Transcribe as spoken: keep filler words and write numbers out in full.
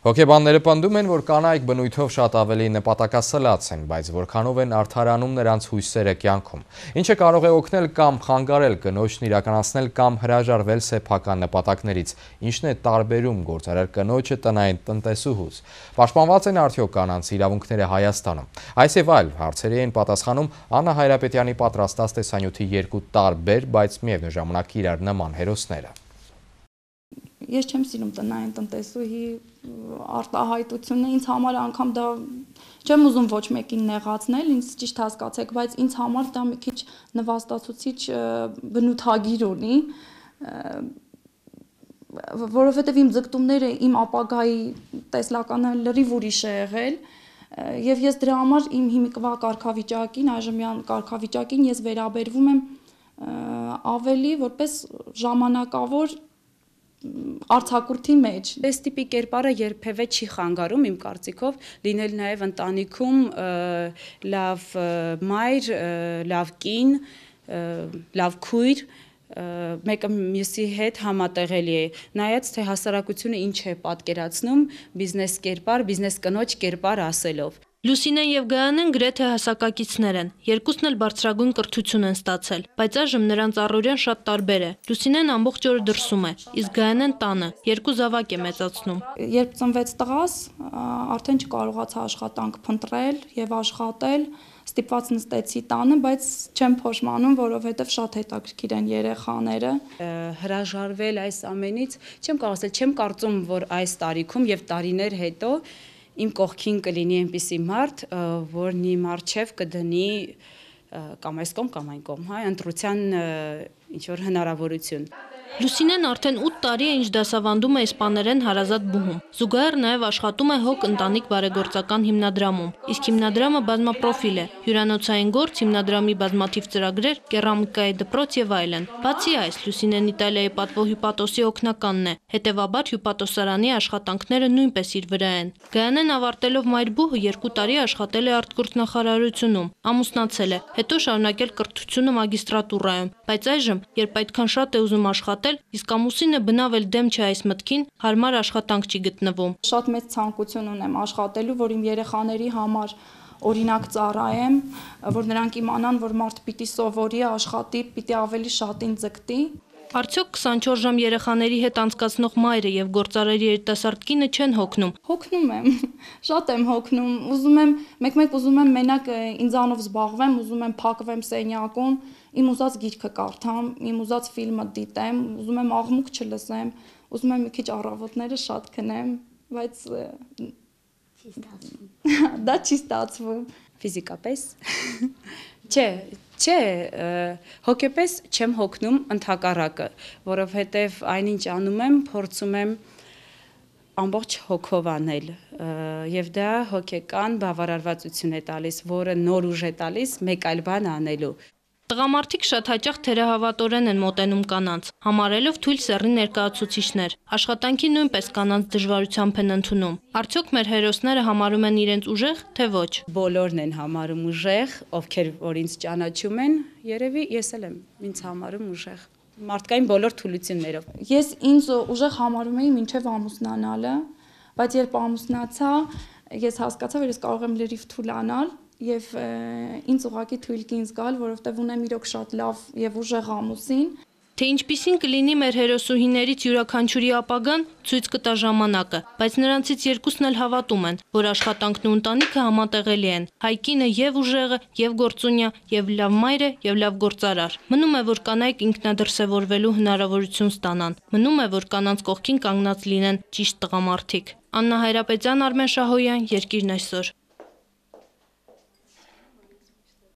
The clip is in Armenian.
Հոգեբանները պնդում են, որ կանայք բնույթով շատ ավելի նպատակասլաց են, բայց որքանով են արդարանում նրանց հույսերը կյանքում։ Ինչը կարող է օգնել կամ խանգարել կնոջն իրականացնել կամ հրաժարվել սեփական նպատակներից, ինչն է տարբերում գործարար կնոջը տնային տնտեսուհուց։ Պաշտպանված են արդյոք կանանց իրավունքները Հայաստանում։ Այս եւ այլ հարցերի են պատասխանում Աննա Հայրապետյանի պատրաստած տեսանյութի երկու տարբեր, բայց միևնույն ժամանակ իրար նման հերոսները։ Ես չեմ սիրում տնային տնտեսուհի արտահայտությունը, ինձ համար անգամ դա չեմ ուզում ոչ մեկին նեղացնել, ինձ ճիշտ հասկացեք, բայց ինձ համար դա մի քիչ նվաստացուցիչ բնութագիր ունի, որովհետև իմ ձգտումները իմ ապագայի տեսլականը լրիվ ուրիշ է եղել, եւ ես դրա համար իմ հիմիկվա կարգավիճակին, այժմյան կարգավիճակին ես վերաբերվում եմ ավելի որպես ժամանակավոր արձակուրդի մեջ։ Այս տիպի կերպարը երբևէ չի խանգարում իմ կարծիքով լինել նաև ընտանիքում լավ մայր, լավ կին, լավ քույր, մեկը մյուսի հետ համատեղելի է, նայած թե հասարակությունը ինչ է պատկերացնում բիզնես կերպար, բիզնես կնոջ կերպար ասելով։ Լուսինեն եւ Գայանեն գրեթե հասակակիցներ են, երկուսն էլ բարձրագույն կրթություն են ստացել, բայց այժմ նրանց առօրյան շատ տարբեր է։ Լուսինեն ամբողջ օրը դրսում է, իսկ Գայանեն տանը, երկու զավակ է մեծացնում։ Երբ ծնվեց տղաս, արդեն չկարողացա աշխատանք փնտրել եւ աշխատել, ստիպված նստեցի տանը, բայց չեմ փոշմանում, որովհետեւ շատ հետաքրքիր են երեխաները։ Հրաժարվել այս ամենից, չեմ կարող ասել, չեմ կարծում, որ այս տարիքում եւ տարիներ հետո իմ կողքին կլինի այնպիսի մարդ, որն իմ առջև կդնի կամ այս կողմ կամ այն կողմ, հա, ընտրության ինչ որ հնարավորություն։ Լուսինեն արդեն ութ տարի է ինչ դասավանդում է իսպաներեն հարազատ բուհում։ Զուգահեռ նաև աշխատում է Հոգ ընտանիք բարեգործական հիմնադրամում, իսկ հիմնադրամը բազմապրոֆիլ է, հյուրանոցային գործ, հիմնադրամի բազմաթիվ ծրագրեր, կերամիկայի դպրոց եւ այլն։ Բացի այս, Լուսինեն Իտալիայի պատվո հյուպատոսի օգնականն է, հետևաբար հյուպատոսարանի աշխատանքները նույնպես իր վրա են։ Գայանեն ավարտելով մայրբուհը երկու տարի աշխատել է արտգործնախարարությունում, ամուսնացել է, հետո շարունակել կրթությունը մագիստրատուրայում, բայց այժմ, երբ այդքան շատ է ուզում աշխատել, իսկ ամուսինը բնավ էլ դեմ չէ այս մտքին, հարմար աշխատանք չի գտնվում։ Շատ մեծ ցանկություն ունեմ աշխատելու, որ իմ երեխաների համար օրինակ ծառայեմ, որ նրանք իմանան, որ մարդ պիտի սովորի, աշխատի, պիտի ավելի շատին ձգտի։ Արդյոք քսանչորս ժամ երեխաների հետ անցկացնող մայրը եւ գործարարի երիտասարդ կինը չեն հոգնում։ Հոգնում եմ, շատ եմ հոգնում, ուզում եմ, մեկ-մեկ ուզում եմ մենակ ինձանով զբաղվեմ, ուզում եմ փակվեմ սենյակում, իմ ուզած գիրքը կարդամ, իմ ուզած ֆիլմը դիտեմ, ուզում եմ աղմուկ չլսեմ, ուզում եմ մի քիչ առավոտները շատ քնեմ, բայց չի ստացվում։ Դա չի ստացվում։ Ֆիզիկապես Չէ, չէ, հոգեպես չեմ հոգնում, ընդհակառակը, որովհետև այնինչ անում եմ, փորձում եմ ամբողջ հոգով անել, եւ դա հոգեկան բավարարվածություն է տալիս, որը նոր ուժ է տալիս մեկ այլ բան անելու։ Տղամարդիկ շատ հաճախ թերահավատորեն են մոտենում կանանց, համարելով թույլ սեռի ներկայացուցիչներ, աշխատանքի նույնպես կանանց դժվարությամբ են ընդունում։ Արդյոք մեր հերոսները համարում են իրենց ուժեղ, թե ոչ։ Բոլորն են համարում ուժեղ, ովքեր որ ինձ ճանաչում են, երևի ես էլ եմ ինձ համարում ուժեղ։ Մարդկային բոլոր թուլություններով։ Ես ինձ ուժեղ համարում էի մինչև ամուսնանալը, բայց երբ ամուսնացա, ես հասկացա, որ ես կարող եմ լրիվ թուլանալ եւ ինձ ուղղակի թույլ կին զգալ, որովհետեւ ունեմ իրոք շատ լավ եւ ուժեղ ամուսին։ Թե ինչպիսին կլինի մեր հերոսուհիներից յուրաքանչյուրի ապագան, ցույց կտա ժամանակը, բայց նրանցից երկուսն էլ հավատում են, որ աշխատանքն ու ընտանիքը համատեղելի են։ Հայկինը եւ ուժեղը, եւ գործունյա, եւ լավ մայր է, եւ լավ գործարար։ Մնում է, որ կանայք ինքնադրսևորվելու հնարավորություն ստանան։ Մնում է, որ կանանց կողքին կանգնած լինեն ճիշտ տղամարդիկ։ Աննա Հայրապետյան, Արմեն Շահոյան, Երկիրն այսօր։